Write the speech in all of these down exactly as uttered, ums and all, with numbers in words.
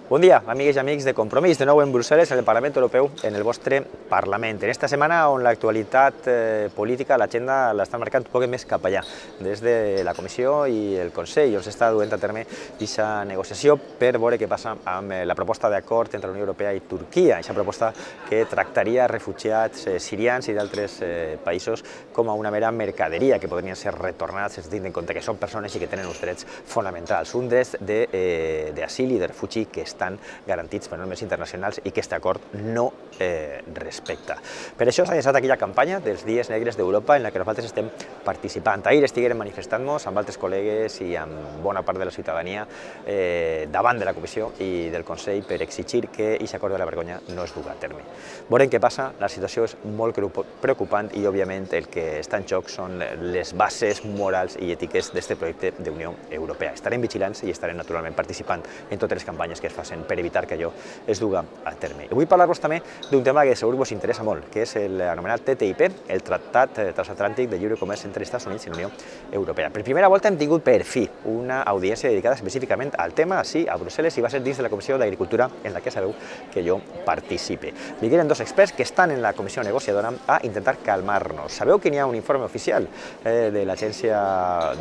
Bon dia, amigues i amics de Compromís, de nou en Brussel·les, en el Parlament Europeu, en el vostre Parlament. En esta setmana on l'actualitat eh, política, l'agenda l'està marcant un poc més cap allà, des de la Comissió i el Consell, on s'està duent a terme aquesta negociació per veure què passa amb la proposta d'acord entre la Unió Europea i Turquia, aquesta proposta que tractaria refugiats eh, sirians i d'altres eh, països com a una mera mercaderia, que podrien ser retornats, es tinguin en compte que són persones i que tenen uns drets fonamentals, un dret d'asil eh, i de refugi que està estan garantits per normes internacionals i que aquest acord no eh, respecta. Per això s'ha llançat aquella campanya dels Dies Negres d'Europa en la que nosaltres estem participant. Ahir estiguérem manifestant-nos amb altres col·legues i amb bona part de la ciutadania eh, davant de la Comissió i del Consell per exigir que aquest acord de la vergonya no es dugui a terme. Veurem què passa, la situació és molt preocupant i, òbviament, el que està en joc són les bases morals i ètiques d'aquest projecte d'Unió Europea. Estarem vigilants i estarem, naturalment, participant en totes les campanyes que es facin per evitar que allò es dugui a terme. I vull parlar-vos també d'un tema que segur que us interessa molt, que és l'anomenat T T I P, el Tractat Transatlàntic de Lliure Comerç entre Estats Units i la Unió Europea. Per primera volta hem tingut per fi una audiència dedicada específicament al tema, sí, a Brussel·les, i va ser dins de la Comissió d'Agricultura en la que sabeu que jo participe. Vingueren dos experts que estan en la comissió negociadora a intentar calmar-nos. Sabeu que n'hi ha un informe oficial eh, de l'Agència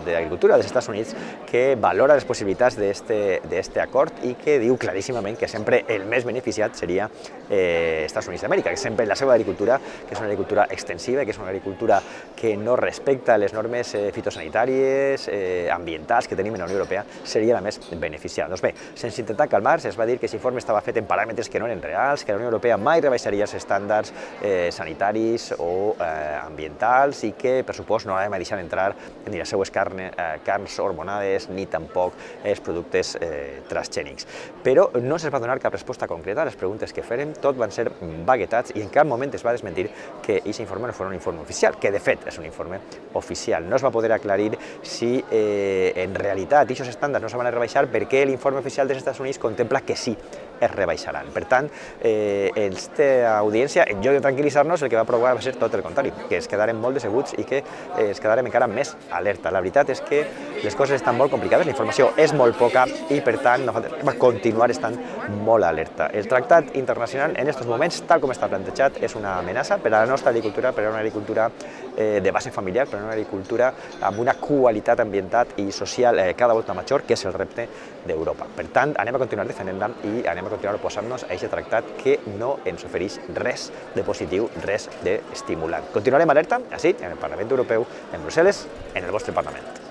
d'Agricultura dels Estats Units que valora les possibilitats d'aquest acord i que diu claríssimament que sempre el més beneficiat seria eh, Estats Units d'Amèrica, que sempre la seva agricultura, que és una agricultura extensiva, que és una agricultura que no respecta les normes eh, fitosanitàries, eh, ambientals que tenim en la Unió Europea, seria la més beneficiada. Doncs bé, sense intentar calmar, es va dir que aquest informe estava fet en paràmetres que no eren reals, que la Unió Europea mai rebaixaria els estàndards eh, sanitaris o eh, ambientals i que, per supost, no hem de deixar entrar ni les seues carne, eh, carns hormonades ni tampoc els productes eh, transgènics. Però no se'ls va donar cap resposta concreta a les preguntes que fèrem, tot van ser vaguetats i en cap moment es va desmentir que aquest informe no fos un informe oficial, que de fet és un informe oficial. No es va poder aclarir si eh, en realitat aquests estàndards no se van a rebaixar perquè l'informe oficial dels Estats Units contempla que sí es rebaixaran. Per tant, eh, aquesta audiència, en lloc de tranquil·litzar-nos, el que va provocar va ser tot el contrari, que es quedarem molt decebuts i que eh, es quedarem encara més alerta. La veritat és que les coses estan molt complicades, la informació és molt poca i, per tant, nosaltres va continuar estant molt alerta. El tractat internacional en aquests moments, tal com està plantejat, és una amenaça per a la nostra agricultura, per a una agricultura eh, de base familiar, per a una agricultura amb una qualitat ambiental i social eh, cada volta major, que és el repte d'Europa. Per tant, anem a continuar defendent-la i anem a continuar oposant-nos a aquest tractat que no ens ofereix res de positiu, res d'estimulant. Continuarem alerta, així, en el Parlament Europeu, en Brussel·les, en el vostre Parlament.